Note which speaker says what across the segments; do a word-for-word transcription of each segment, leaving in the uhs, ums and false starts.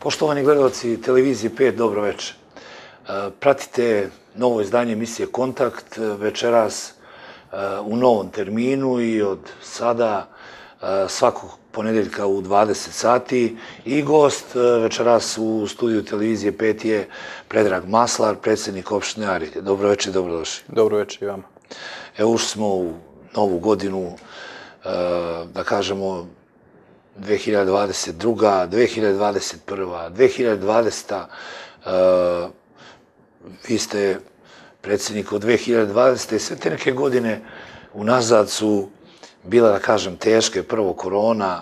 Speaker 1: Poštovani gledalci televizije pet, dobro večer. Pratite novo izdanje emisije Kontakt večeras u novom terminu i od sada svakog ponedeljka u dvadeset sati i gost večeras u studiju televizije pet je Predrag Maslar, predsjednik opštine Arilje. Dobro večer, dobrodošli.
Speaker 2: Dobro večer i vama.
Speaker 1: Evo ušli smo u novu godinu, da kažemo, dve hiljade dvadeset druga, dve hiljade dvadeset prva, dve hiljade dvadeseta. Vi ste predsjednik od dve hiljade dvadesete. Sve te neke godine unazad su bile, da kažem, teške. Prvo korona,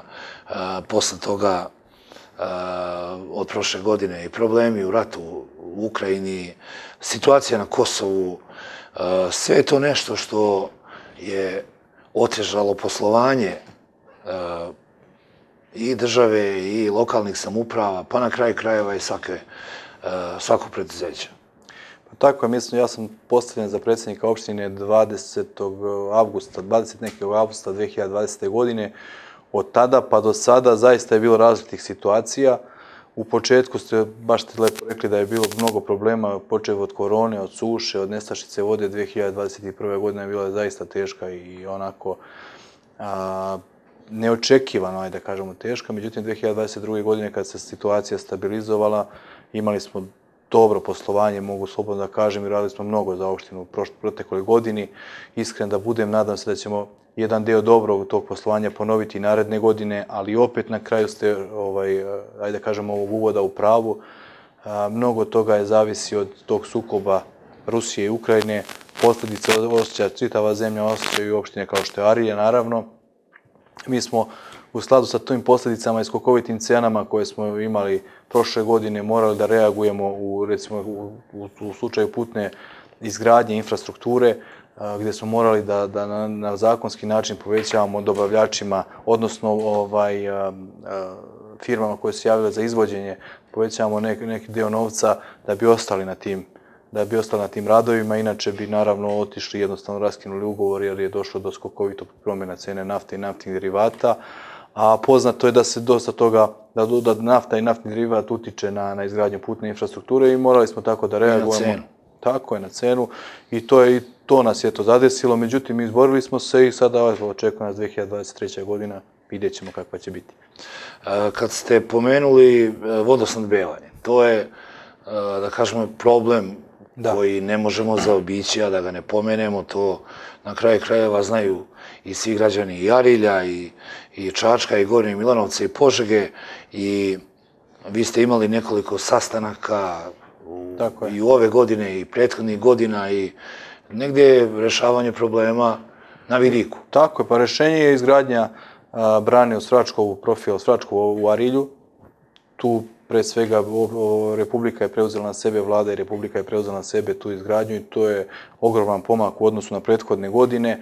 Speaker 1: posle toga od prošle godine i problemi u ratu u Ukrajini, situacija na Kosovu. Sve je to nešto što je otežalo poslovanje i države i lokalnih samouprava, pa na kraju krajeva i svakog preduzeća.
Speaker 2: Tako je, mislim, ja sam postavljen za predsjednika opštine dvadesetog avgusta, dvadesetog avgusta dve hiljade dvadesete. godine. Od tada pa do sada zaista je bilo različitih situacija. U početku ste baš ste lepo rekli da je bilo mnogo problema, počev od korone, od suše, od nestašice vode. dve hiljade dvadeset prve. godine je bila zaista teška i onako neočekivano, ajde da kažemo, teška. Međutim, dve hiljade dvadeset druge. godine kad se situacija stabilizovala, imali smo dobro poslovanje, mogu slobodno da kažem, i radili smo mnogo za opštinu u protekloj godini. Iskren da budem, nadam se da ćemo jedan deo dobrog tog poslovanja ponoviti i naredne godine, ali opet na kraju ste, ajde da kažemo, ovog uvoda u pravu. Mnogo toga je zavisi od tog sukoba Rusije i Ukrajine. Posljedice osjeća čitava zemlja, osjećaju i opštine kao što je Arilje, naravno. Mi smo u skladu sa tim posljedicama i skokovitim cenama koje smo imali prošle godine morali da reagujemo u, recimo, u slučaju putne izgradnje infrastrukture, gdje smo morali da, da na, na zakonski način povećavamo dobavljačima, odnosno ovaj, firmama koje su javile za izvođenje, povećavamo neki, neki dio novca da bi ostali na tim da bi ostali na tim radovima, inače bi naravno otišli, jednostavno raskinuli ugovor jer je došlo do skokovitog promjena cene nafte i naftnih derivata, a poznato je da se dosta toga, da, da nafta i naftni derivat utiče na, na izgradnju putne infrastrukture i morali smo tako da reagujemo.
Speaker 1: I na cenu.
Speaker 2: Tako je, na cenu. I to, je, i to nas je to zadesilo, međutim izborili smo se i sada očekuje nas dve hiljade dvadeset treća. godina, vidjet ćemo kakva će biti.
Speaker 1: Kad ste pomenuli vodosnadbevanje, to je, da kažemo, problem da. koji ne možemo zaobići, a da ga ne pomenemo, to na kraju krajeva znaju i svi građani i Arilja, i, i Čačka, i Gornje Milanovce, i Požege, i vi ste imali nekoliko sastanaka u, i u ove godine, i prethodnih godina, i negdje je rešavanje problema na vidiku.
Speaker 2: Tako je, pa rešenje je izgradnja a, brane od Svračkovu, profila Svračkovu u Arilju. Tu pre svega Republika je preuzela na sebe, vlada i Republika je preuzela na sebe tu izgradnju i to je ogroman pomak u odnosu na prethodne godine.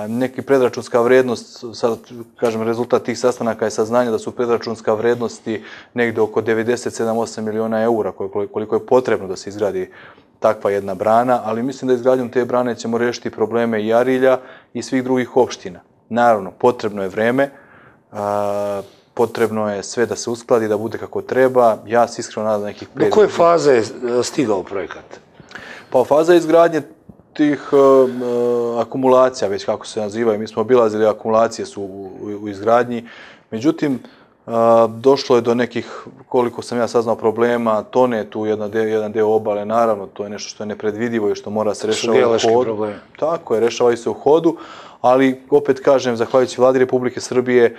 Speaker 2: Neki predračunska vrednost, sad kažem, rezultat tih sastanaka je saznanje da su predračunska vrednosti negde oko devedeset sedam do osam miliona eura, koliko je potrebno da se izgradi takva jedna brana, ali mislim da izgradnjom te brane ćemo rešiti probleme i Arilja i svih drugih opština. Naravno, potrebno je vreme, potrebno je sve da se uskladi, da bude kako treba. Ja se iskreno nadam nekih pet...
Speaker 1: Do koje faze je stigao projekat?
Speaker 2: Pa faza izgradnje tih akumulacija, već kako se nazivaju, mi smo obilazili, akumulacije su u izgradnji. Međutim, došlo je do nekih, koliko sam ja saznao, problema, tone tu jedan deo obale, naravno, to je nešto što je nepredvidivo i što mora se rešava u hodu. Tako je, rešavaju se u hodu, ali opet kažem, zahvaljujući vladi Republike Srbije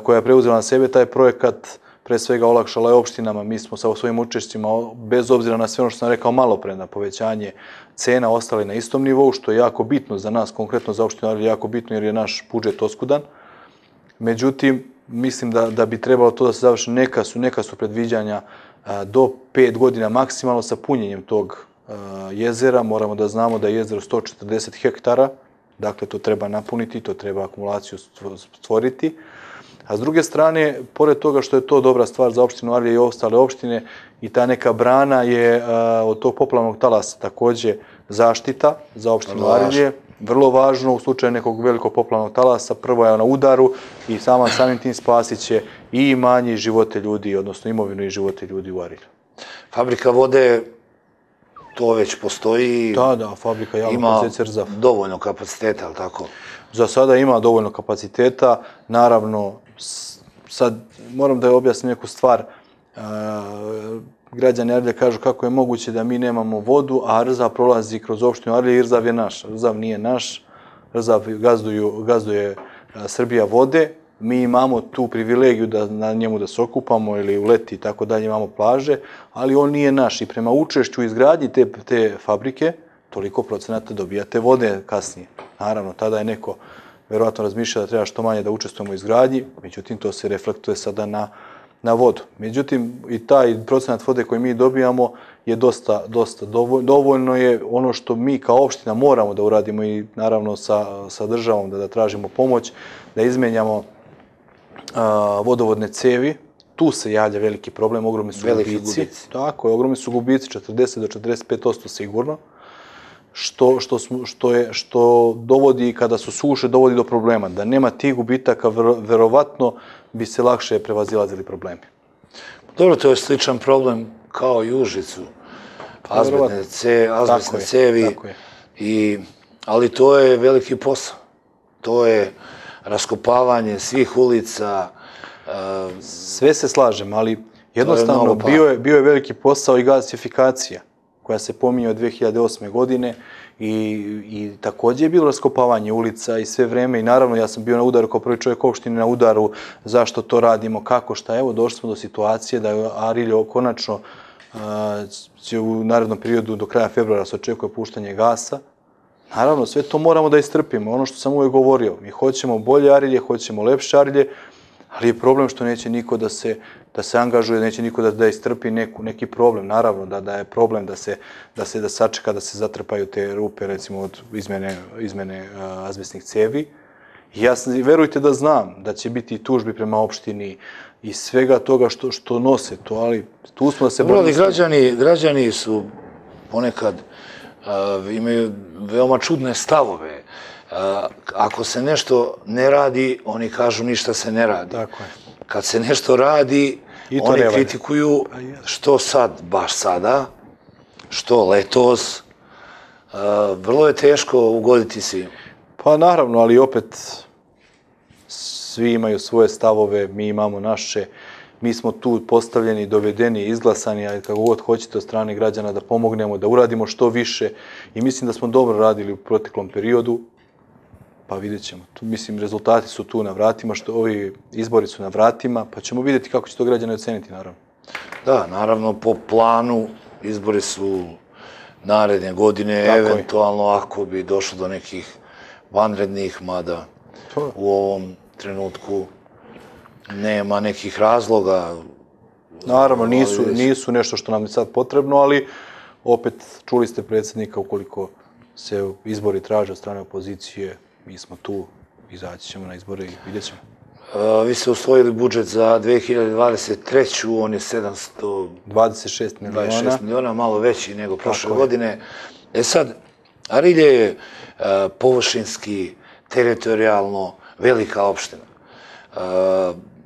Speaker 2: koja je preuzela na sebe taj projekat, pre svega olakšala je opštinama, mi smo sa svojim učešćima, bez obzira na sve ono što sam rekao malo pre, na povećanje cena, ostali na istom nivou, što je jako bitno za nas, konkretno za opštinu Arilje, jako bitno jer je naš budžet oskudan. Međutim, mislim da, da bi trebalo to da se završi, neka su, neka su predviđanja a, do pet godina maksimalno sa punjenjem tog a, jezera. Moramo da znamo da je jezero sto četrdeset hektara, dakle to treba napuniti, to treba akumulaciju stvoriti. A s druge strane, pored toga što je to dobra stvar za opštinu Arilje i ostale opštine, i ta neka brana je a, od tog poplavnog talasa također zaštita za opštinu Arilje. vrlo važno u slučaju nekog velikog poplavnog talasa, prvo je na udaru i sama samim tim spasit će i imanje i živote ljudi, odnosno imovinu i živote ljudi u Arilju.
Speaker 1: Fabrika vode, to već postoji.
Speaker 2: Da, da, fabrika javnog podsjeća Rzav.
Speaker 1: Ima dovoljno kapaciteta, ali tako?
Speaker 2: Za sada ima dovoljno kapaciteta, naravno, sad moram da objasnim neku stvar. Građani Arilja kažu kako je moguće da mi nemamo vodu, a Rzav prolazi kroz opštinu Arilje i Rzav je naš. Rzav nije naš, Rzav gazduje Srbija vode. Mi imamo tu privilegiju da na njemu da se okupamo ili u leti i tako dalje imamo plaže, ali on nije naš i prema učešću u izgradnji te, te fabrike toliko procenata dobijate vode kasnije. Naravno, tada je neko verovatno razmišlja da treba što manje da učestvujemo u izgradnji, međutim to se reflektuje sada na, na vodu. Međutim, i taj procenat vode koji mi dobijamo je dosta, dosta dovoljno. Dovoljno je ono što mi kao opština moramo da uradimo i naravno sa, sa državom da, da tražimo pomoć, da izmenjamo vodovodne cevi. Tu se javlja veliki problem, ogromni su gubici. Tako je, ogromni su gubici, četrdeset do četrdeset pet posto sigurno, što, što, što, je, što dovodi, kada su suše, dovodi do problema. Da nema tih gubitaka, verovatno bi se lakše prevazilazili problemi.
Speaker 1: Dobro, to je sličan problem kao i u Užicu. Azbestne cevi, azbestne cevi, i, ali to je veliki posao. To je raskopavanje svih ulica.
Speaker 2: Sve se slažem, ali jednostavno bio je, bio je veliki posao i gasifikacija koja se pominje od dve hiljade osme. godine i, i također je bilo raskopavanje ulica i sve vreme i naravno ja sam bio na udaru kao prvi čovjek opštine na udaru zašto to radimo, kako, šta. Evo došli smo do situacije da je Arilje konačno će u narednom periodu do kraja februara se očekuje puštanje gasa. Naravno, sve to moramo da istrpimo. Ono što sam uvijek govorio, mi hoćemo bolje Arilje, hoćemo lepše Arilje, ali je problem što neće niko da se, da se angažuje, neće niko da, da istrpi neku, neki problem. Naravno, da, da je problem da se, da se da sačeka, da se zatrpaju te rupe, recimo, od izmene, izmene uh, azbestnih cevi. I ja sam, verujte da znam da će biti tužbi prema opštini i svega toga što, što nose to, ali tu smo da se borimo.
Speaker 1: Građani, građani su ponekad Uh, imaju veoma čudne stavove. Uh, ako se nešto ne radi, oni kažu ništa se ne radi.
Speaker 2: Tako je.
Speaker 1: Kad se nešto radi, oni kritikuju što sad, baš sada, što letos. Uh, vrlo je teško ugoditi svima.
Speaker 2: Pa naravno, ali opet svi imaju svoje stavove, mi imamo naše. Mi smo tu postavljeni, dovedeni, izglasani, ali kako god hoćete od strane građana da pomognemo, da uradimo što više. I mislim da smo dobro radili u proteklom periodu, pa vidjet ćemo. Tu, mislim, rezultati su tu na vratima, što ovi izbori su na vratima, pa ćemo vidjeti kako će to građani oceniti, naravno.
Speaker 1: Da, naravno, po planu izbori su naredne godine, tako eventualno je. Ako bi došlo do nekih vanrednih, mada to. U ovom trenutku nema nekih razloga.
Speaker 2: Naravno, nisu, nisu nešto što nam je sad potrebno, ali opet čuli ste predsjednika, ukoliko se izbori traže od strane opozicije, mi smo tu, izaći ćemo na izbore i vidjet ćemo.
Speaker 1: Uh, vi ste usvojili budžet za dve hiljade dvadeset treću. On je sedamsto
Speaker 2: dvadeset šest miliona.
Speaker 1: miliona, malo veći nego prošle godine. E sad, Arilje je uh, površinski, teritorijalno velika opština. Uh,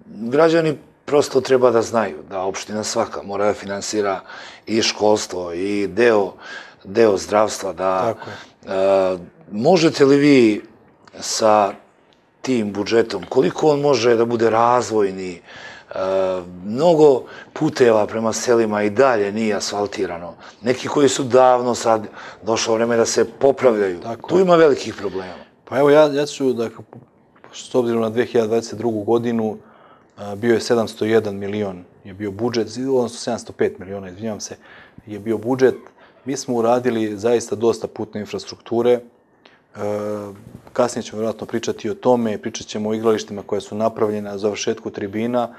Speaker 1: građani prosto treba da znaju da opština svaka mora da finansira i školstvo i deo, deo zdravstva. Da, uh, možete li vi sa tim budžetom, koliko on može da bude razvojni, uh, mnogo puteva prema selima i dalje nije asfaltirano. Neki koji su davno sad došlo vreme da se popravljaju. Tako. Tu ima velikih problema.
Speaker 2: Pa evo, ja, ja ću da, s obzirom na dve hiljade dvadeset drugu. godinu, bio je sedamsto jedan milion, je bio budžet, odnosno sedamsto pet miliona, izvinjavam se, je bio budžet. Mi smo uradili zaista dosta putne infrastrukture. Kasnije ćemo vjerojatno pričati o tome, pričat ćemo o igralištima koje su napravljene, završetku tribina.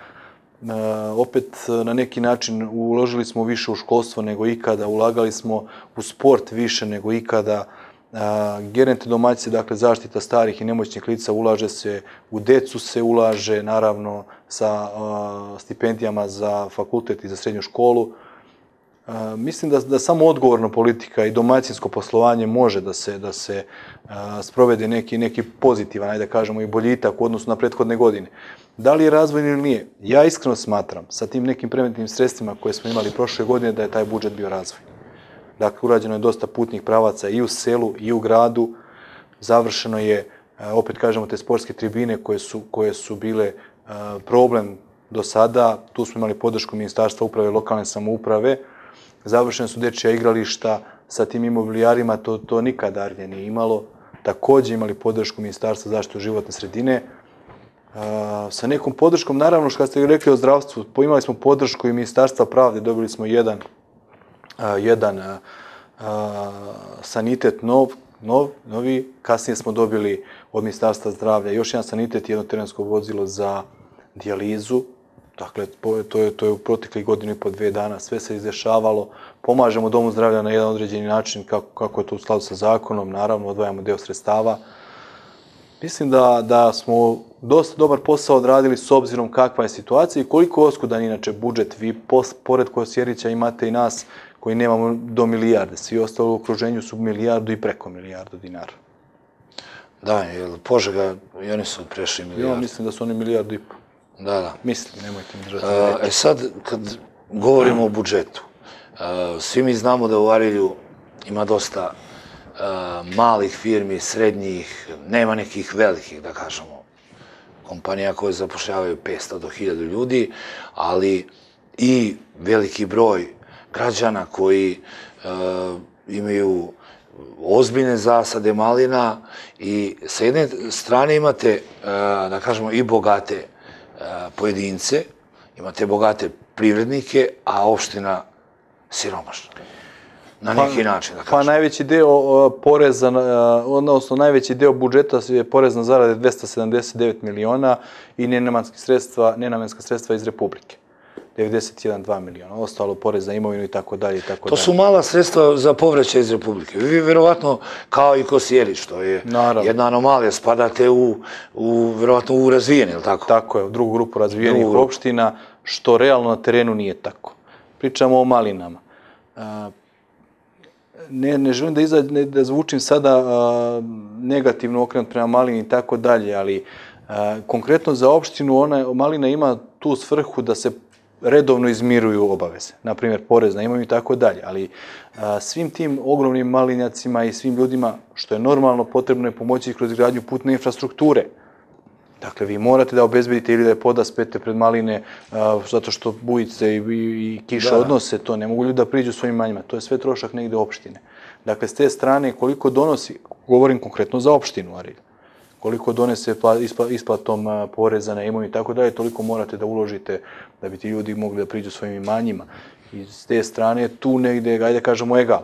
Speaker 2: Opet, na neki način, uložili smo više u školstvo nego ikada, ulagali smo u sport više nego ikada. Geronte domaćice, dakle zaštita starih i nemoćnih lica, ulaže se, u decu se ulaže, naravno sa stipendijama za fakultet i za srednju školu. Mislim da, da samo odgovorna politika i domaćinsko poslovanje može da se, da se a, sprovede neki, neki pozitivan, ajde da kažemo, i boljitak u odnosu na prethodne godine. Da li je razvojni ili nije? Ja iskreno smatram, sa tim nekim preventivnim sredstvima koje smo imali prošle godine, da je taj budžet bio razvoj. Dakle, urađeno je dosta putnih pravaca i u selu i u gradu. Završeno je, opet kažemo, te sportske tribine koje su, koje su bile problem do sada. Tu smo imali podršku Ministarstva uprave i lokalne samouprave. Završene su dečija igrališta sa tim imobilijarima, to, to nikada Arnje nije imalo. Također imali podršku Ministarstva zaštite životne sredine. Uh, sa nekom podrškom, naravno što ste rekli o zdravstvu, imali smo podršku i Ministarstva pravde, dobili smo jedan, uh, jedan uh, uh, sanitet nov, nov, novi, kasnije smo dobili od Ministarstva zdravlja još jedan sanitet i jedno terensko vozilo za dijalizu. Dakle, to je, to je u proteklih godinu i po dve dana, sve se izdešavalo, pomažemo Domu zdravlja na jedan određeni način, kako, kako je to u skladu sa zakonom, naravno odvajamo deo sredstava. Mislim da, da smo dosta dobar posao odradili s obzirom kakva je situacija i koliko oskudan inače budžet. Vi pos, pored Kosjerića imate i nas koji nemamo do milijarde. Svi ostali u okruženju su milijardu i preko milijardu dinara.
Speaker 1: Da, jer Požega i oni su prešli milijardu.
Speaker 2: Ja mislim da su oni milijardu i po.
Speaker 1: Da, da.
Speaker 2: Mislim, nemojte mi držati.
Speaker 1: E sad, kad govorimo o budžetu, svi mi znamo da u Arilju ima dosta malih firmi, srednjih, nema nekih velikih, da kažemo, kompanija koje zapošljavaju petsto do hiljadu ljudi, ali i veliki broj građana koji imaju ozbiljne zasade malina i sa jedne strane imate, da kažemo, i bogate pojedince, imate bogate privrednike, a opština siromašna. Na neki način, da kažem.
Speaker 2: Pa najveći deo poreza, odnosno najveći deo budžeta je porez na zarade dvesta sedamdeset devet miliona i nenamenska sredstva, nenamenska sredstva iz Republike. devedeset jedan zarez dva miliona. Ostalo porez za imovinu i tako dalje i tako dalje.
Speaker 1: To su mala sredstva za povraćaj iz Republike. Vi verovatno, kao i Kosjerić, što je jedna anomalija, spadate u, u verovatno u razvijeni, ili tako?
Speaker 2: Tako je, u drugu grupu razvijenih opština, što realno na terenu nije tako. Pričamo o malinama. Ne, ne želim da, iza, ne, da zvučim sada a, negativno okrenut prema malini i tako dalje, ali a, konkretno za opštinu ona, malina ima tu svrhu da se redovno izmiruju obaveze, na primjer porez na imovinu i tako dalje, ali a, svim tim ogromnim malinjacima i svim ljudima, što je normalno, potrebno je pomoći kroz izgradnju putne infrastrukture. Dakle, vi morate da obezbedite ili da je podaspete pred maline a, zato što bujice i, i, i kiša da. odnose to, ne mogu ljudi da priđu svojim manjima, to je sve trošak negde opštine. Dakle, s te strane, koliko donosi, govorim konkretno za opštinu Arilj, koliko donese isplatom poreza na imovinu i tako dalje, toliko morate da uložite da bi ti ljudi mogli da priđu svojim imanjima. I s te strane, tu negde, ajde kažemo, egal.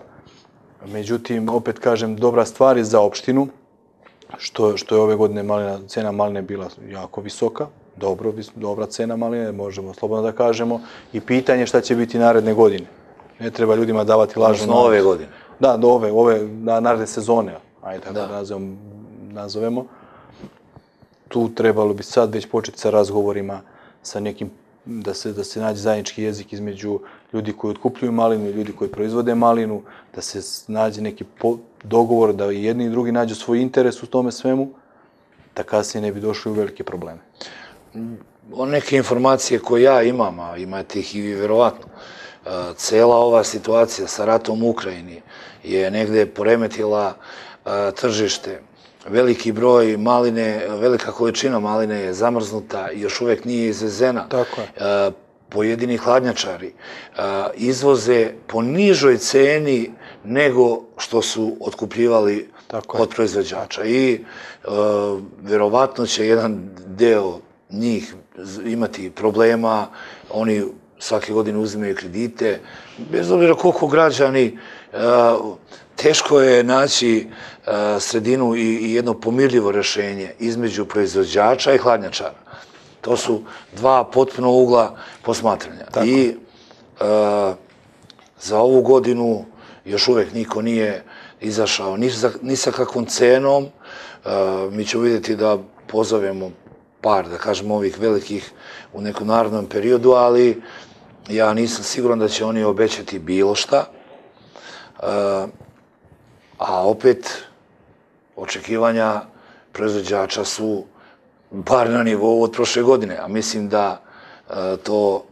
Speaker 2: Međutim, opet kažem, dobra stvar je za opštinu, što, što je ove godine malina, cena maline bila jako visoka, dobro, dobra cena maline, možemo slobodno da kažemo, i pitanje šta će biti naredne godine. Ne treba ljudima davati lažnu nadu.
Speaker 1: Ove godine.
Speaker 2: Da, do ove, ove naredne sezone, ajde tako da, da nazovemo, nazovemo. Tu trebalo bi sad već početi sa razgovorima, sa nekim, da se, da se nađe zajednički jezik između ljudi koji otkupljuju malinu i ljudi koji proizvode malinu, da se nađe neki po, dogovor, da i jedni i drugi nađu svoj interes u tome svemu, da kasnije ne bi došli u velike probleme.
Speaker 1: O neke informacije koje ja imam, a imate ih i vi verovatno, cela ova situacija sa ratom u Ukrajini je negde poremetila tržište. Veliki broj maline, velika količina maline je zamrznuta i još uvek nije izvezena.
Speaker 2: Tako je.
Speaker 1: Pojedini hladnjačari izvoze po nižoj ceni nego što su otkupljivali od proizvođača. I verovatno će jedan deo njih imati problema, oni svake godine uzimaju kredite, bez obzira koliko građani, teško je naći sredinu i jedno pomirljivo rešenje između proizvođača i hladnjačara. To su dva potpuno ugla posmatranja. I za ovu godinu još uvek niko nije izašao ni sa kakvom cenom. Mi ćemo vidjeti da pozovemo par, da kažemo, ovih velikih u nekom narodnom periodu, ali ja nisam siguran da će oni obećati bilo šta, a opet očekivanja proizvođača su bar na nivou od prošle godine, a mislim da to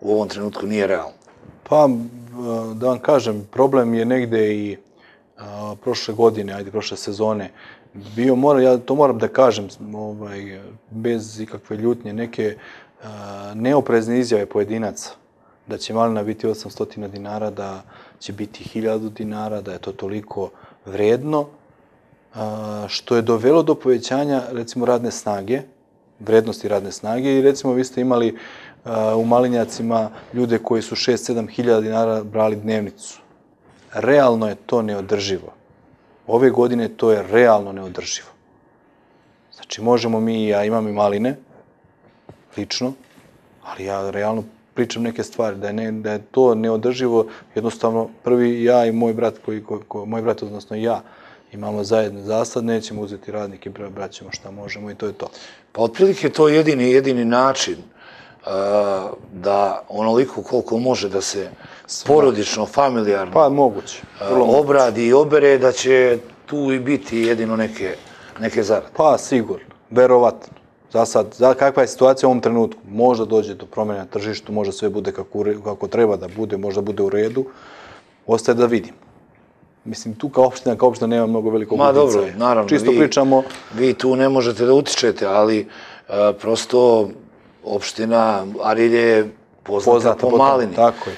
Speaker 1: u ovom trenutku nije realno.
Speaker 2: Pa, da vam kažem, problem je negde i prošle godine, ajde, prošle sezone, bio, ja to moram da kažem, bez ikakve ljutnje, neke neoprezne izjave pojedinaca, da će malina biti osamsto dinara, da će biti hiljadu dinara, da je to toliko vredno, što je dovelo do povećanja, recimo, radne snage, vrednosti radne snage i, recimo, vi ste imali u malinjacima ljude koji su šest sedam hiljada dinara brali dnevnicu. Realno je to neodrživo. Ove godine to je realno neodrživo. Znači, možemo mi, ja imam i maline, lično, ali ja realno pričam neke stvari, da je to neodrživo, jednostavno, prvi ja i moj brat, moj brat, odnosno ja, imamo zajedno zasad, nećemo uzeti radnike, braćemo šta možemo i to je to.
Speaker 1: Pa otprilike to je jedini, jedini način da onoliko koliko može da se porodično, familijarno
Speaker 2: pa, moguće,
Speaker 1: obradi i obere, da će tu i biti jedino neke zarade.
Speaker 2: Pa, sigurno, verovatno. Za sad, kakva je situacija u ovom trenutku? Možda dođe do promjena na tržištu, možda sve bude kako treba da bude, možda bude u redu. Ostaje da vidim. Mislim, tu kao opština, kao opština nema mnogo velikog uticaja.
Speaker 1: Ma dobro, naravno.
Speaker 2: Čisto pričamo...
Speaker 1: Vi tu ne možete da utičete, ali prosto opština Arilje je poznata po malini.
Speaker 2: Tako je.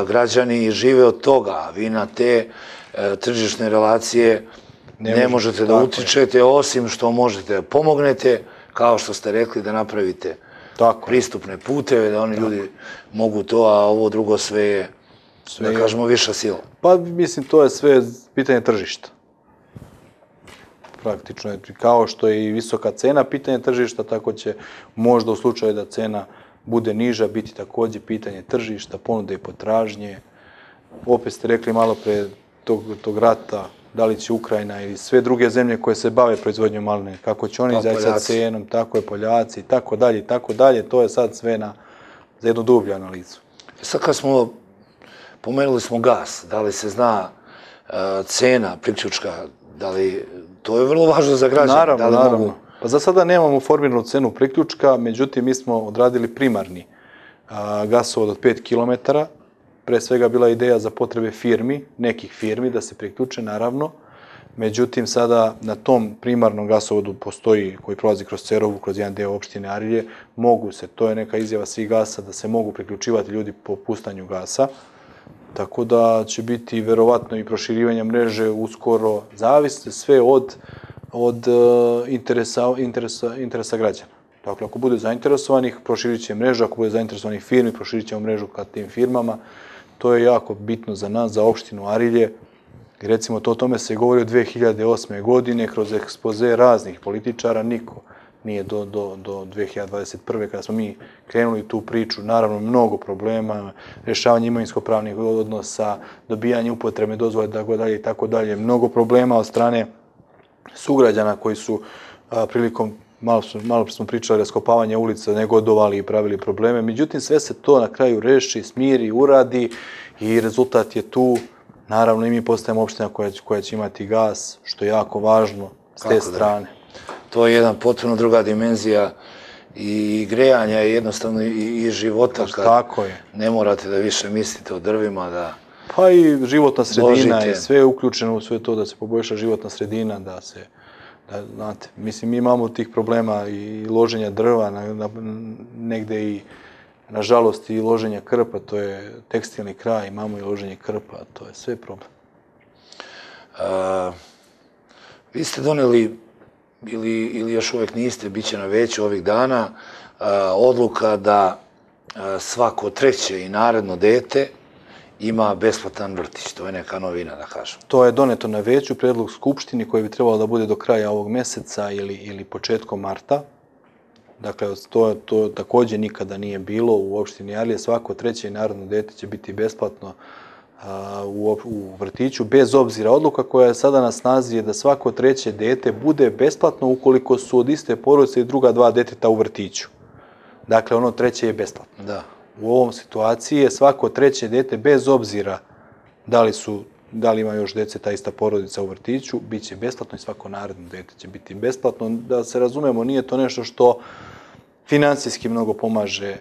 Speaker 1: Građani žive od toga, a vi na te tržišne relacije ne možete da utičete, osim što možete da pomognete, kao što ste rekli, da napravite pristupne puteve, da oni ljudi mogu to, a ovo drugo sve je, da kažemo, viša sila.
Speaker 2: Pa, mislim, to je sve pitanje tržišta. Praktično je, kao što je i visoka cena pitanje tržišta, tako će možda u slučaju da cena bude niža biti također pitanje tržišta, ponude i potražnje. Opet ste rekli malo pre tog rata, da li će Ukrajina ili sve druge zemlje koje se bave proizvodnjom maline, kako će oni izaći sa cenom, tako je Poljaci i tako dalje i tako dalje. To je sad sve za jednu dublju analizu.
Speaker 1: Sad kad smo, pomenuli smo gas, da li se zna cena priključka, da li, to je vrlo važno za građane.
Speaker 2: Naravno, naravno. Pa za sada nemamo formiranu cenu priključka, međutim mi smo odradili primarni gasovod od pet kilometara. Pre svega bila ideja za potrebe firmi, nekih firmi, da se priključe, naravno. Međutim, sada na tom primarnom gasovodu postoji, koji prolazi kroz Cerovu, kroz jedan deo opštine Arilje, mogu se, to je neka izjava svih gasa, da se mogu priključivati ljudi po pustanju gasa. Tako da će biti verovatno i proširivanje mreže uskoro, zavisno sve od, od interesa, interesa, interesa građana. Dakle, ako bude zainteresovanih, proširit će mrežu, ako bude zainteresovanih firmi, proširit ćemo mrežu ka tim firmama. To je jako bitno za nas, za opštinu Arilje. I recimo, to o tome se govori od dve hiljade osme. godine, kroz ekspoze raznih političara, niko nije do, do, do dve hiljade dvadeset prve. kada smo mi krenuli tu priču, naravno mnogo problema, rješavanje imovinsko-pravnih odnosa, dobijanje upotrebne dozvole, tako dalje i tako dalje, mnogo problema od strane sugrađana koji su a, prilikom Malo, malo smo pričali raskopavanje ulica, negodovali i pravili probleme. Međutim, sve se to na kraju reši, smiri, uradi i rezultat je tu. Naravno, i mi postajemo opština koja, koja će imati gas, što je jako važno s te strane.
Speaker 1: To je jedna potpuno druga dimenzija i grejanja i jednostavno i, i života. Kad
Speaker 2: tako je.
Speaker 1: Ne morate da više mislite o drvima, da...
Speaker 2: Pa i životna sredina ložite. I sve je uključeno u sve to da se poboljša životna sredina, da se... Da, znate, mislim, mi imamo tih problema i loženja drva, na, na, negde i, nažalost, i loženja krpa, to je tekstilni kraj, imamo i loženje krpa, to je sve problem.
Speaker 1: A, vi ste doneli, ili, ili još uvek niste, bit će na veću ovih dana, a, odluka da a, svako treće i naredno dete ima besplatan vrtić. To je neka novina, da kažem.
Speaker 2: To je doneto na veću, predlog Skupštini koji bi trebalo da bude do kraja ovog meseca ili, ili početkom marta. Dakle, to, to također nikada nije bilo u opštini Arilje. Svako treće i naredno dete će biti besplatno a, u, u vrtiću, bez obzira. Odluka koja je sada na snazi je da svako treće dete bude besplatno ukoliko su od iste porodice i druga dva deteta u vrtiću. Dakle, ono treće je besplatno.
Speaker 1: Da.
Speaker 2: u ovom situaciji je svako treće dete, bez obzira da li su, da li ima još dece, ta ista porodica u vrtiću, bit će besplatno i svako naredno dete će biti besplatno. Da se razumemo, nije to nešto što financijski mnogo pomaže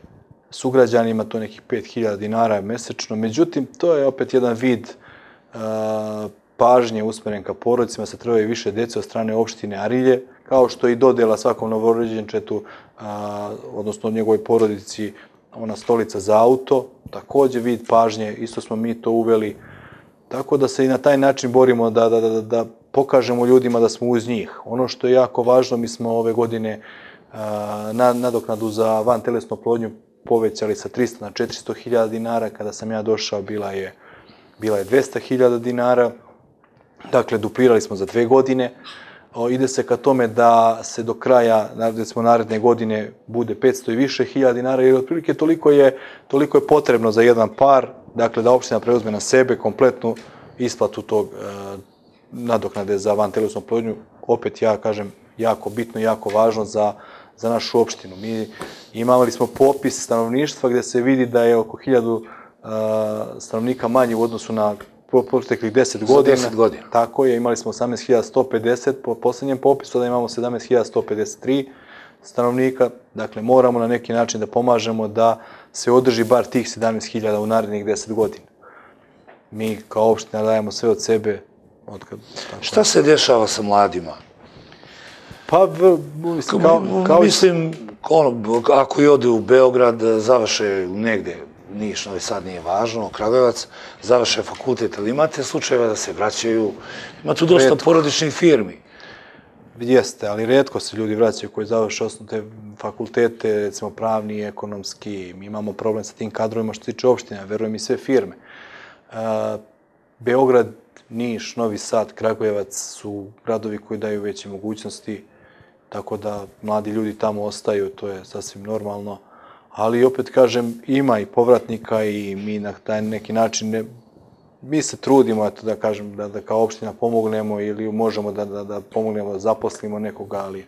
Speaker 2: sugrađanima, to je nekih pet hiljada dinara mesečno. Međutim, to je opet jedan vid uh, pažnje usmeren ka porodicima, se trebaju više dece od strane opštine Arilje, kao što i dodela svakom novorođenčetu, uh, odnosno njegovoj porodici, ona stolica za auto, također vid pažnje, isto smo mi to uveli. Tako da se i na taj način borimo da, da, da, da pokažemo ljudima da smo uz njih. Ono što je jako važno, mi smo ove godine uh, na, nadoknadu za vantelesnu oplodnju povećali sa trista na četiristo hiljada dinara. Kada sam ja došao, bila je, bila je dvesta hiljada dinara. Dakle, duplirali smo za dve godine. O, ide se ka tome da se do kraja, recimo naredne godine, bude petsto i više hiljada dinara, jer otprilike toliko je, toliko je potrebno za jedan par, dakle da opština preuzme na sebe kompletnu isplatu tog e, nadoknade za vantelesnu oplodnju. Opet ja kažem, jako bitno i jako važno za, za našu opštinu. Mi imali smo popis stanovništva gdje se vidi da je oko hiljadu e, stanovnika manje u odnosu na proteklih deset godina.
Speaker 1: deset godina.
Speaker 2: Tako je, imali smo osamnaest hiljada sto pedeset po posljednjem popisu, da imamo sedamnaest hiljada sto pedeset tri stanovnika. Dakle, moramo na neki način da pomažemo da se održi bar tih sedamnaest hiljada u narednih deset godina. Mi kao opština dajemo sve od sebe. Od kad,
Speaker 1: Šta se dešava sa mladima?
Speaker 2: Pa, mislim, kao, kao...
Speaker 1: Mislim, ono, ako i ode u Beograd, završe negde, Niš, Novi Sad nije važno, Kragujevac, završe fakultet, ali imate slučajeva da se vraćaju, ima tu dosta retko. Porodičnih firmi.
Speaker 2: Jeste, ali retko se ljudi vraćaju koji završe osnovne fakultete, recimo pravni, ekonomski. Mi imamo problem sa tim kadrovima što se tiče opštine, verujem i sve firme. E, Beograd, Niš, Novi Sad, Kragujevac su gradovi koji daju veće mogućnosti, tako da mladi ljudi tamo ostaju, to je sasvim normalno. Ali opet kažem, ima i povratnika i mi na taj neki način, ne, mi se trudimo eto, da kažem da, da kao opština pomognemo ili možemo da, da, da pomognemo da zaposlimo nekoga, ali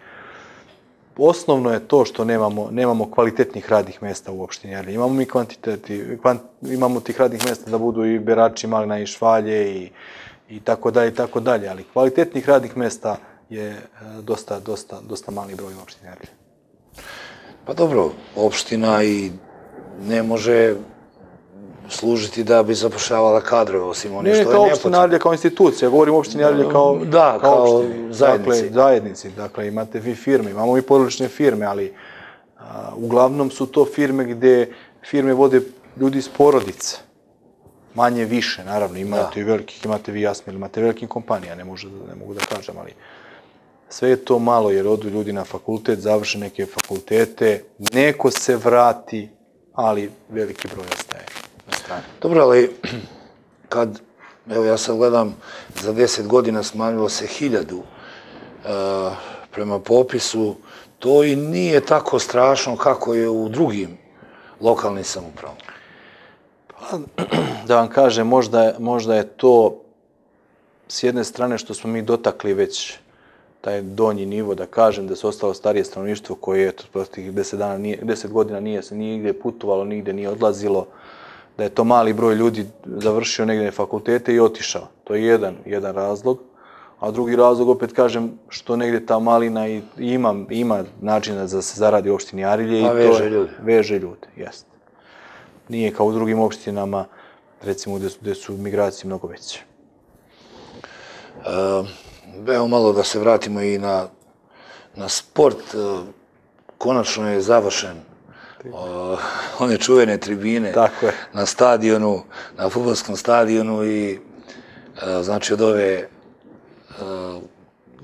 Speaker 2: osnovno je to što nemamo, nemamo kvalitetnih radnih mjesta u opštini. Ali imamo mi kvantiteti, kvant, imamo tih radnih mjesta da budu i berači malina i švalje i, i tako dalje i tako dalje, ali kvalitetnih radnih mjesta je dosta, dosta, dosta mali broj u opštini.
Speaker 1: Pa dobro, opština i ne može služiti da bi zapošljavala kadrove, osim ono što je nepotrebno.
Speaker 2: Ne, kao opština Arilje, kao institucija, govorim opštini Arilje kao,
Speaker 1: da, kao, kao
Speaker 2: opštini.
Speaker 1: zajednici.
Speaker 2: Dakle, zajednici, dakle, imate vi firme, imamo i porodične firme, ali a, uglavnom su to firme gdje firme vode ljudi iz porodice. Manje više, naravno, imate i velikih, imate vi jasno, imate velikim kompanija, ne, može, ne mogu da kažem, ali sve je to malo jer odu ljudi na fakultet, završe neke fakultete, neko se vrati, ali veliki broj ostaje na strani.
Speaker 1: Dobro, ali kad, evo ja sad gledam, za deset godina smanjilo se hiljadu uh, prema popisu, to i nije tako strašno kako je u drugim lokalnim samoupravama.
Speaker 2: Pa, da vam kažem, možda, možda je to s jedne strane što smo mi dotakli već taj donji nivo, da kažem, da se ostalo starije stanovništvo koje je prostih deset, dana nije, deset godina nije se nigdje putovalo, nigdje nije odlazilo, da je to mali broj ljudi završio negdje fakultete i otišao. To je jedan, jedan razlog. A drugi razlog, opet kažem, što negdje ta malina i ima, ima načina da se zaradi u opštini Arilje.
Speaker 1: A
Speaker 2: i
Speaker 1: veže
Speaker 2: to je,
Speaker 1: ljude.
Speaker 2: Veže ljude, jest. Nije kao u drugim opštinama, recimo, gdje su, gdje su migracije mnogo veće.
Speaker 1: Uh, Evo malo da se vratimo i na, na sport. Konačno je završen uh, one čuvene tribine.
Speaker 2: Tako je.
Speaker 1: Na stadionu, na fudbalskom stadionu i uh, znači od ove, uh,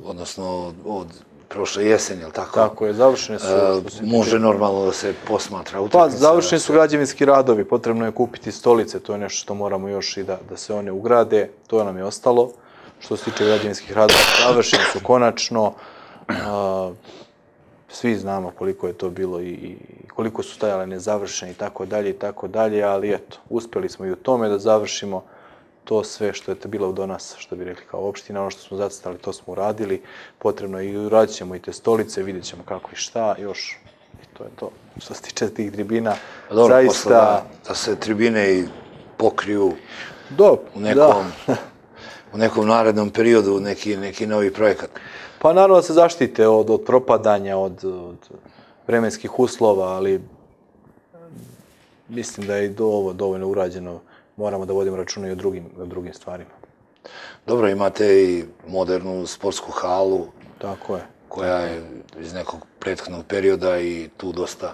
Speaker 1: odnosno od prošle jeseni, je li tako?
Speaker 2: Tako je, završene su.
Speaker 1: Uh, može normalno da se posmatra utakmica.
Speaker 2: Pa, završeni su građevinski radovi, potrebno je kupiti stolice, to je nešto što moramo još i da, da se one ugrade, to nam je ostalo. Što se tiče građevinskih radova, završeni su konačno. Uh, svi znamo koliko je to bilo i, i koliko su stajale nezavršene i tako dalje i tako dalje, ali eto, uspjeli smo i u tome da završimo to sve što je bilo do nas, što bi rekli kao opština, ono što smo zacrtali, to smo uradili. Potrebno je i uradit ćemo i te stolice, vidjet ćemo kako i šta, još I to je to. Što se tiče tih tribina,
Speaker 1: dobro,
Speaker 2: zaista...
Speaker 1: Da, da se tribine i pokriju
Speaker 2: Do,
Speaker 1: u, nekom, u nekom narednom periodu, neki, neki novi projekat.
Speaker 2: Pa naravno da se zaštite od, od propadanja, od, od vremenskih uslova, ali mislim da je i do ovo dovoljno urađeno. Moramo da vodimo računa i o drugim, o drugim stvarima.
Speaker 1: Dobro, imate i modernu sportsku halu.
Speaker 2: Tako je.
Speaker 1: Koja je iz nekog prethodnog perioda i tu dosta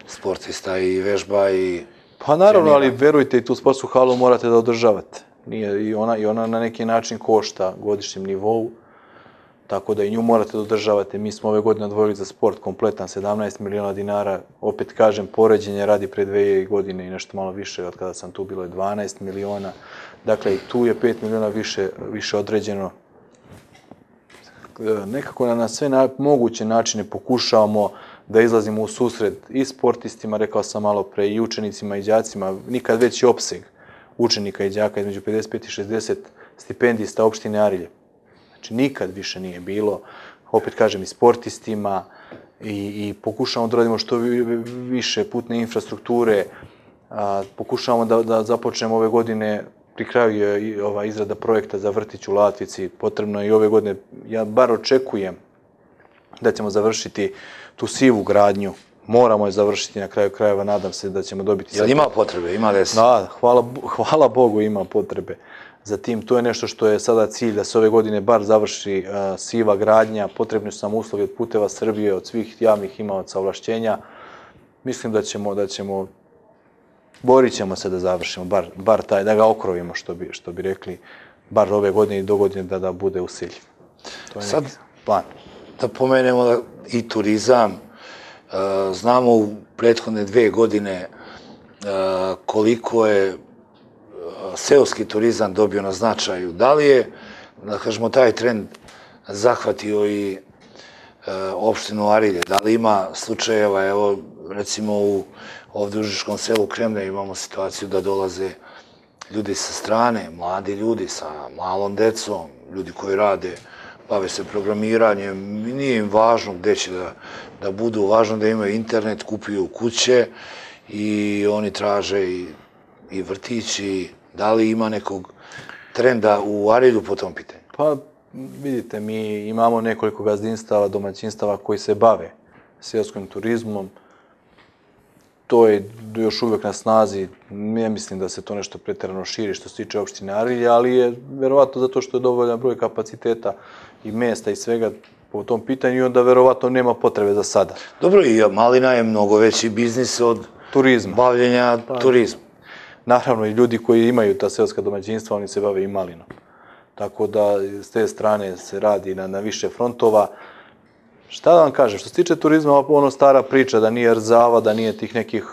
Speaker 1: sportista i vežba i...
Speaker 2: Pa naravno, ali verujte, i tu sportsku halu morate da održavate. Nije, i, ona, I ona na neki način košta godišnjem nivou, tako da i nju morate da održavate. Mi smo ove godine odvojili za sport kompletan sedamnaest miliona dinara. Opet kažem, poređenje radi pre dve godine i nešto malo više, od kada sam tu bilo je dvanaest miliona. Dakle, i tu je pet miliona više, više određeno. Nekako na sve na, moguće načine pokušavamo da izlazimo u susret i sportistima, rekao sam malo pre, i učenicima i đacima. Nikad veći opseg učenika i đaka, između pedeset pet i šezdeset stipendista opštine Arilje. Znači, nikad više nije bilo. Opet kažem, i sportistima i, i pokušavamo da radimo što više putne infrastrukture. A, pokušavamo da, da započnemo ove godine. Pri kraju je i ova izrada projekta za vrtić u Latvici. Potrebno je i ove godine, ja bar očekujem da ćemo završiti tu sivu gradnju. Moramo je završiti na kraju krajeva, nadam se da ćemo dobiti...
Speaker 1: Jel ima potrebe, ima desi?
Speaker 2: Da, hvala, hvala Bogu ima potrebe za tim. To je nešto što je sada cilj, da se ove godine bar završi uh, siva gradnja. Potrebni su nam uslovi od Puteva Srbije, od svih javnih imaoca ovlašćenja. Mislim da ćemo, da ćemo borit ćemo se da završimo, bar, bar taj, da ga okrovimo, što bi, što bi rekli, bar ove godine i do godine da, da bude usiljiv. To je
Speaker 1: sad
Speaker 2: neki plan.
Speaker 1: Da pomenemo da i turizam. Uh, znamo u prethodne dve godine uh, koliko je uh, seoski turizam dobio na značaju. Da li je, da kažemo, taj trend zahvatio i uh, opštinu Arilje? Da li ima slučajeva, evo, recimo u ovdje u Užičkom selu Kremne imamo situaciju da dolaze ljudi sa strane, mladi ljudi sa malom decom, ljudi koji rade, bave se programiranjem, nije im važno gde će da, da budu, važno da imaju internet, kupuju kuće i oni traže i, i vrtići. Da li ima nekog trenda u Arilju po tom pitanju?
Speaker 2: Pa vidite, mi imamo nekoliko gazdinstava, domaćinstava koji se bave seoskim turizmom. To je još uvijek na snazi, ne mislim da se to nešto pretjerano širi što se tiče opštine Arilje, ali je verovatno zato što je dovoljan broj kapaciteta i mesta i svega po tom pitanju i onda verovatno nema potrebe za sada.
Speaker 1: Dobro, i malina je mnogo veći biznis od
Speaker 2: turizma.
Speaker 1: Bavljenja pa, turizma.
Speaker 2: Naravno, i ljudi koji imaju ta seoska domaćinstva, oni se bave i malinom. Tako da s te strane se radi na, na više frontova. Šta da vam kažem, što se tiče turizma, ono stara priča da nije Rzava, da nije tih nekih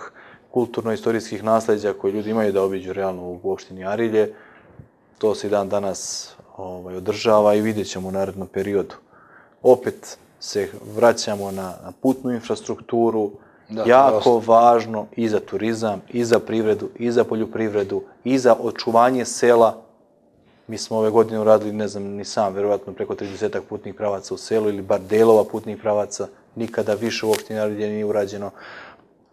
Speaker 2: kulturno-istorijskih nasljeđa koje ljudi imaju da obiđu realno u opštini Arilje, to se i dan danas ovaj, održava i vidjet ćemo u narednom periodu. Opet se vraćamo na, na putnu infrastrukturu, da, jako važno i za turizam, i za privredu, i za poljoprivredu, i za očuvanje sela. Mi smo ove godine uradili, ne znam ni sam, verovatno preko trideset putnih pravaca u selu ili bar delova putnih pravaca. Nikada više u opštini Arilje nije urađeno.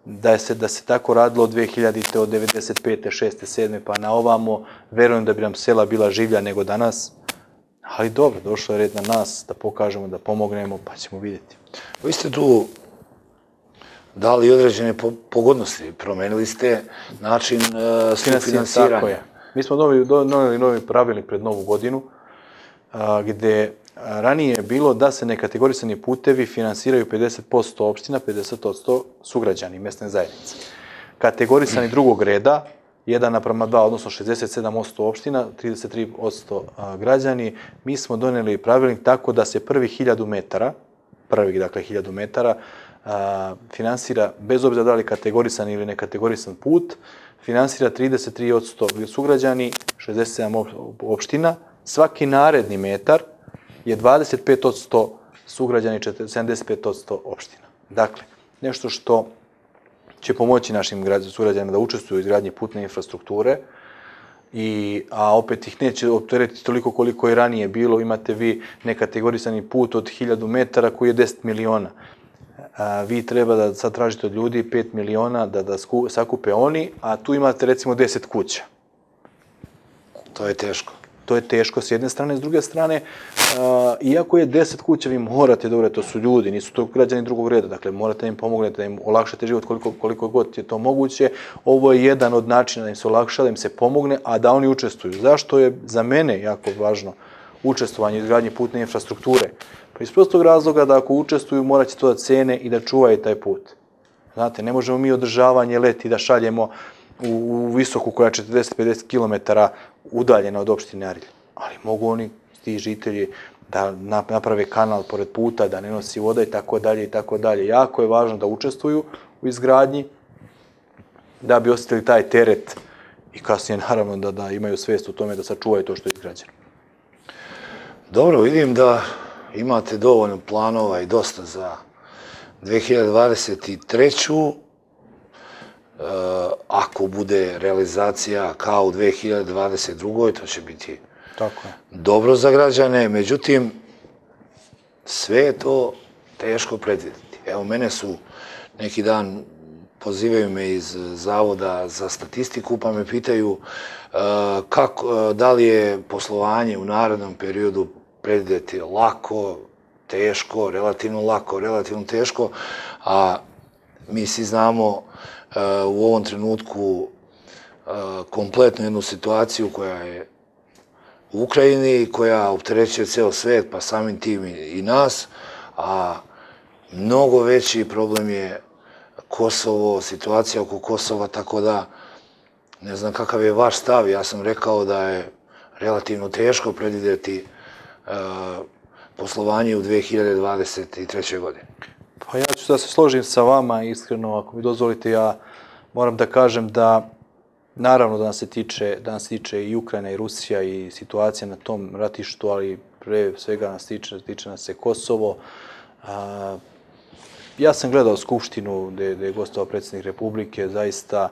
Speaker 2: Da se, da se tako radilo od dve hiljadite, od devedeset pete, šeste, sedme pa na ovamo, verujem da bi nam sela bila življa nego danas. Ali dobro, došlo je red na nas da pokažemo, da pomognemo, pa ćemo vidjeti.
Speaker 1: Vi ste tu dali određene pogodnosti, promenili ste način uh, sufinansiranja.
Speaker 2: Tako je. Mi smo doneli novi pravilnik pred novu godinu, a, gde ranije je bilo da se nekategorisani putevi finansiraju pedeset posto opština, pedeset posto sugrađani mesne zajednice. Kategorisani drugog reda, jedan naprama dva, odnosno šezdeset sedam posto opština, trideset tri posto građani, mi smo doneli pravilnik tako da se prvi hiljadu metara, prvih, dakle, hiljadu metara, a, finansira, bez obzira da li kategorisan ili nekategorisan put, finansira trideset tri posto sugrađani, šezdeset sedam opština. Svaki naredni metar je dvadeset pet posto sugrađani, sedamdeset pet posto opština. Dakle, nešto što će pomoći našim sugrađanima da učestvuju u izgradnji putne infrastrukture, i, a opet ih neće opteretiti toliko koliko je ranije bilo. Imate vi nekategorisani put od hiljadu metara koji je deset miliona. vi treba da sad tražite od ljudi pet miliona da, da sakupe oni, a tu imate recimo deset kuća.
Speaker 1: To je teško.
Speaker 2: To je teško s jedne strane, s druge strane, uh, iako je deset kuća, vi morate da uradite, to su ljudi, nisu to građani drugog reda, dakle morate da im pomognete, da im olakšate život koliko, koliko god je to moguće. Ovo je jedan od načina da im se olakša, da im se pomogne, a da oni učestvuju. Zašto je za mene jako važno učestvovanje u izgradnji putne infrastrukture? Pa iz prostog razloga da ako učestvuju, morat će to da cene i da čuvaju taj put. Znate, ne možemo mi održavanje leti da šaljemo u, u visoku koja je četrdeset do pedeset kilometara udaljena od opštine Arilje. Ali mogu oni, ti žitelji, da naprave kanal pored puta, da ne nosi voda i tako dalje i tako dalje. Jako je važno da učestvuju u izgradnji, da bi osjetili taj teret i kasnije naravno da, da imaju svijest u tome da sačuvaju to što je izgrađeno.
Speaker 1: Dobro, vidim da imate dovoljno planova i dosta za dve hiljade dvadeset treću. Ako bude realizacija kao u dve hiljade dvadeset drugoj, to će biti
Speaker 2: Tako je.
Speaker 1: dobro za građane, međutim, sve je to teško predvidjeti. Evo, mene su neki dan, pozivaju me iz Zavoda za statistiku, pa me pitaju kako, da li je poslovanje u narednom periodu predvidjeti lako, teško, relativno lako, relativno teško, a mi svi znamo u ovom trenutku kompletnu jednu situaciju koja je u Ukrajini, koja opterećuje ceo svet, pa samim tim i nas, a mnogo veći problem je Kosovo, situacija oko Kosova, tako da ne znam kakav je vaš stav. Ja sam rekao da je relativno teško predvidjeti poslovanje u dve hiljade dvadeset trećoj godini.
Speaker 2: Pa ja ću da se složim sa vama, iskreno, ako mi dozvolite, ja moram da kažem da naravno da nas se tiče, da nas tiče i Ukrajina i Rusija i situacija na tom ratištu, ali pre svega nas tiče, tiče nas se Kosovo. A, ja sam gledao Skupštinu gde, gde je gostovao predsjednik Republike, zaista,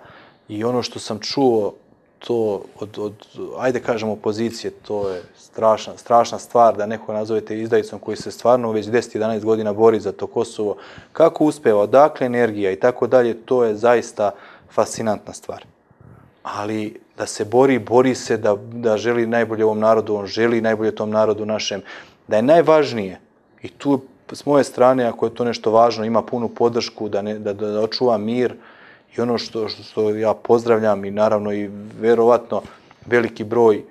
Speaker 2: i ono što sam čuo, to od, od, ajde kažemo, opozicije, to je strašna, strašna stvar da neko nazovete izdajicom koji se stvarno već deset do jedanaest godina bori za to Kosovo. Kako uspeva, odakle energija i tako dalje, to je zaista fascinantna stvar. Ali da se bori, bori se da, da želi najbolje ovom narodu, on želi najbolje tom narodu našem, da je najvažnije, i tu s moje strane, ako je to nešto važno, ima punu podršku da, ne, da, da očuva mir. I ono što, što ja pozdravljam i naravno i verovatno veliki broj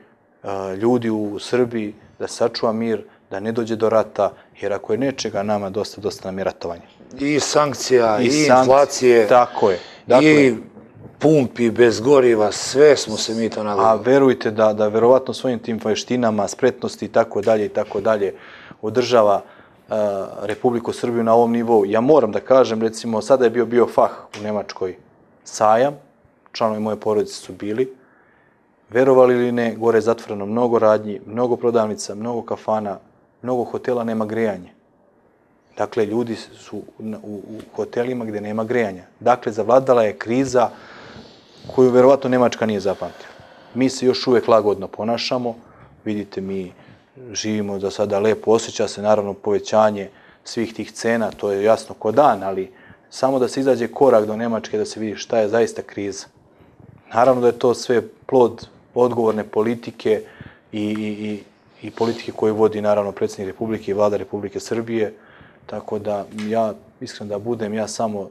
Speaker 2: a, ljudi u Srbiji da sačuva mir, da ne dođe do rata, jer ako je nečega nama dosta, dosta nam je ratovanje.
Speaker 1: I sankcija, i, i
Speaker 2: sankcije,
Speaker 1: inflacije,
Speaker 2: tako je, dakle,
Speaker 1: i pumpi bez goriva, sve smo se mi to nagledali.
Speaker 2: A verujte da, da verovatno svojim tim veštinama, spretnosti i tako dalje i tako dalje održava a, Republiku Srbiju na ovom nivou. Ja moram da kažem, recimo, sada je bio bio fah u Nemačkoj sajam, članovi moje porodice su bili, verovali ili ne, gore je zatvoreno mnogo radnji, mnogo prodavnica, mnogo kafana, mnogo hotela, nema grejanje. Dakle, ljudi su u, u hotelima gdje nema grejanja. Dakle, zavladala je kriza koju verovatno Nemačka nije zapamtila. Mi se još uvijek lagodno ponašamo, vidite, mi živimo za sada lepo, osjeća se naravno povećanje svih tih cena, to je jasno ko dan, ali samo da se izađe korak do Nemačke, da se vidi šta je zaista kriza. Naravno da je to sve plod odgovorne politike i, i, i politike koju vodi naravno predsjednik Republike i vlada Republike Srbije. Tako da ja, iskreno da budem, ja samo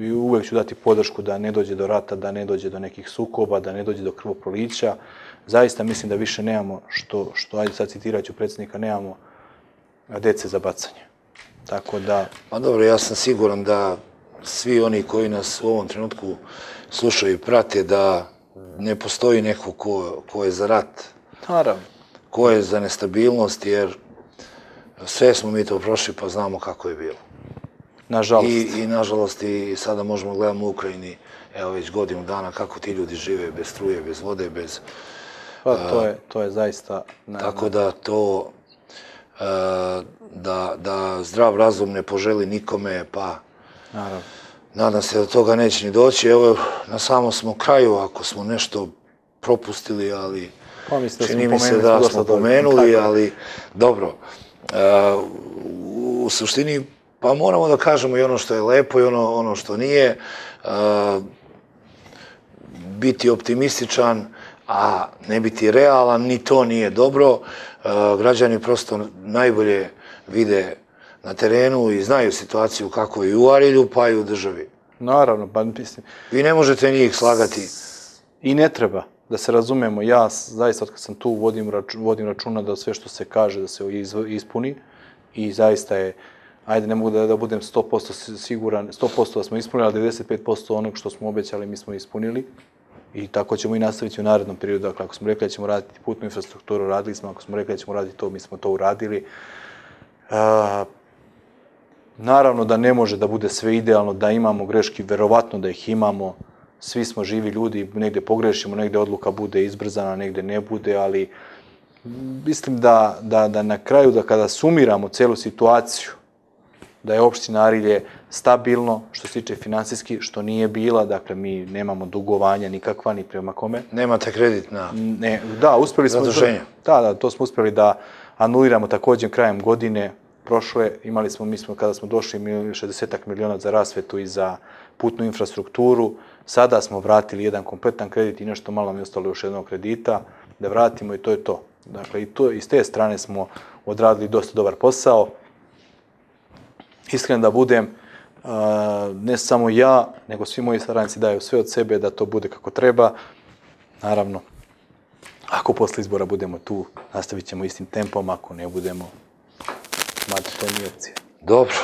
Speaker 2: i uvek ću dati podršku da ne dođe do rata, da ne dođe do nekih sukoba, da ne dođe do krvoprolića. Zaista mislim da više nemamo, što, što ajde sad citirat ću predsjednika, nemamo dece za bacanje. Tako da...
Speaker 1: Pa dobro, ja sam siguran da svi oni koji nas u ovom trenutku slušaju i prate, da ne postoji neko ko, ko je za rat.
Speaker 2: Naravno.
Speaker 1: Ko je za nestabilnost, jer sve smo mi to prošli pa znamo kako je bilo.
Speaker 2: Nažalost.
Speaker 1: I, i nažalost i sada možemo gledati u Ukrajini, evo već godinu dana kako ti ljudi žive bez struje, bez vode, bez...
Speaker 2: Pa to je, to je zaista...
Speaker 1: Ne, tako da to... Da, da zdrav razum ne poželi nikome, pa...
Speaker 2: Naravno.
Speaker 1: Nadam se da toga neće ni doći. Evo, na samom smo kraju, ako smo nešto propustili, ali...
Speaker 2: Pa mislim
Speaker 1: čini mi se da smo pomenuli, ali dobro. U suštini, Pa moramo da kažemo i ono što je lepo i ono, ono što nije. Uh, biti optimističan, a ne biti realan, ni to nije dobro. Uh, građani prosto najbolje vide na terenu i znaju situaciju kako je i u Arilju, pa i u državi.
Speaker 2: Naravno, pa mislim...
Speaker 1: Vi ne možete njih slagati.
Speaker 2: I ne treba, da se razumemo. Ja zaista, od kad sam tu, vodim, računa, vodim računa da sve što se kaže da se ispuni i zaista je, ajde, ne mogu da, da budem sto posto siguran, sto posto da smo ispunili, ali devedeset pet posto onog što smo obećali mi smo ispunili. I tako ćemo i nastaviti u narednom periodu. Dakle, ako smo rekli da ćemo raditi putnu infrastrukturu, radili smo. Ako smo rekli da ćemo raditi to, mi smo to uradili. Uh, naravno da ne može da bude sve idealno, da imamo greški, verovatno da ih imamo. Svi smo živi ljudi, negde pogrešimo, negde odluka bude izbrzana, negde ne bude, ali mislim da, da, da na kraju, da kada sumiramo celu situaciju, da je opština Arilje stabilno, što se tiče finansijski, što nije bila, dakle mi nemamo dugovanja nikakva, ni prema kome.
Speaker 1: Nemate kredit na
Speaker 2: ne, da, uspeli smo,
Speaker 1: zaduženje.
Speaker 2: Da, da, to smo uspeli da anuliramo također krajem godine prošle. Imali smo, mi smo, kada smo došli, šezdeset miliona za rasvetu i za putnu infrastrukturu. Sada smo vratili jedan kompletan kredit i nešto malo mi je ostalo još jednog kredita da vratimo i to je to. Dakle, i to, iz te strane smo odradili dosta dobar posao. Iskren da budem, ne samo ja, nego svi moji saradnici daju sve od sebe da to bude kako treba. Naravno, ako posle izbora budemo tu, nastavit ćemo istim tempom, ako ne budemo, mada to nije opcija.
Speaker 1: Dobro.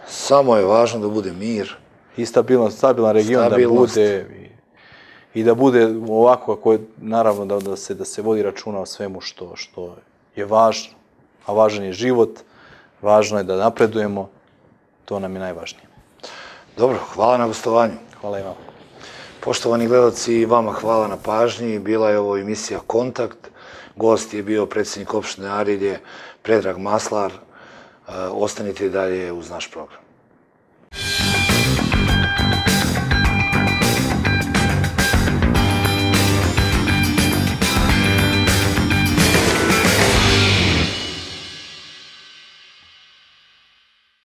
Speaker 1: Samo je važno da bude mir.
Speaker 2: I stabilan, stabilan region
Speaker 1: Stabilnost.
Speaker 2: Da bude i, i da bude ovako kako je, naravno da, da, se, da se vodi računa o svemu što, što je važno, a važan je život, važno je da napredujemo, to nam je najvažnije.
Speaker 1: Dobro, hvala na gostovanju.
Speaker 2: Hvala i vam.
Speaker 1: Poštovani gledalci, vama hvala na pažnji. Bila je ovo emisija Kontakt. Gost je bio predsjednik opštine Arilje, Predrag Maslar. Ostanite i dalje uz naš program.